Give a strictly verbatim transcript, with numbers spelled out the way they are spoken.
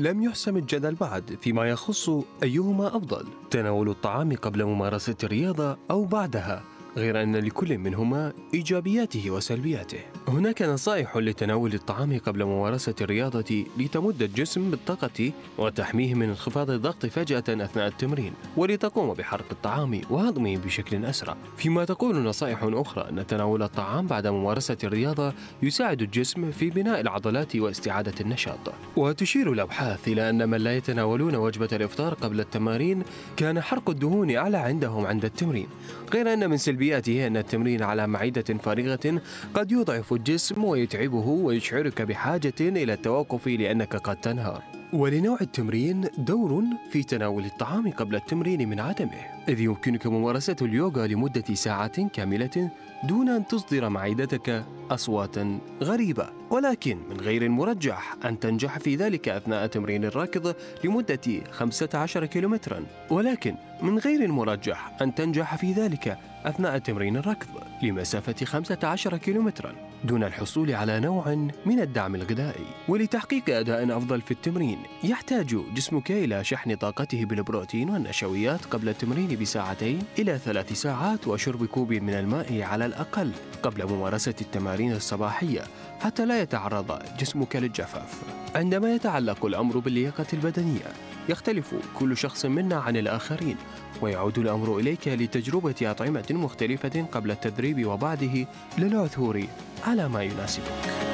لم يحسم الجدل بعد فيما يخص أيهما أفضل، تناول الطعام قبل ممارسة الرياضة أو بعدها، غير أن لكل منهما إيجابياته وسلبياته. هناك نصائح لتناول الطعام قبل ممارسة الرياضة لتمد الجسم بالطاقة وتحميه من انخفاض الضغط فجأة أثناء التمرين، ولتقوم بحرق الطعام وهضمه بشكل أسرع. فيما تقول نصائح أخرى أن تناول الطعام بعد ممارسة الرياضة يساعد الجسم في بناء العضلات واستعادة النشاط. وتشير الأبحاث إلى أن من لا يتناولون وجبة الإفطار قبل التمارين كان حرق الدهون أعلى عندهم عند التمرين، غير أن من سلبياته أن التمرين على معدة فارغة قد يضعف الجسم ويتعبه ويشعرك بحاجة إلى التوقف لأنك قد تنهار. ولنوع التمرين دور في تناول الطعام قبل التمرين من عدمه، إذ يمكنك ممارسة اليوغا لمدة ساعات كاملة دون أن تصدر معدتك أصواتا غريبة، ولكن من غير المرجح أن تنجح في ذلك أثناء تمرين الركض لمدة خمسة عشر كيلومترا، ولكن من غير المرجح أن تنجح في ذلك أثناء تمرين الركض لمسافة خمسة عشر كيلومترا دون الحصول على نوع من الدعم الغذائي. ولتحقيق أداء أفضل في التمرين يحتاج جسمك إلى شحن طاقته بالبروتين والنشويات قبل التمرين بساعتين إلى ثلاث ساعات، وشرب كوب من الماء على الأقل قبل ممارسة التمارين الصباحية حتى لا يتعرض جسمك للجفاف. عندما يتعلق الأمر باللياقة البدنية يختلف كل شخص منا عن الآخرين، ويعود الأمر إليك لتجربة أطعمة مختلفة قبل التدريب وبعده للعثور على ما يناسبك.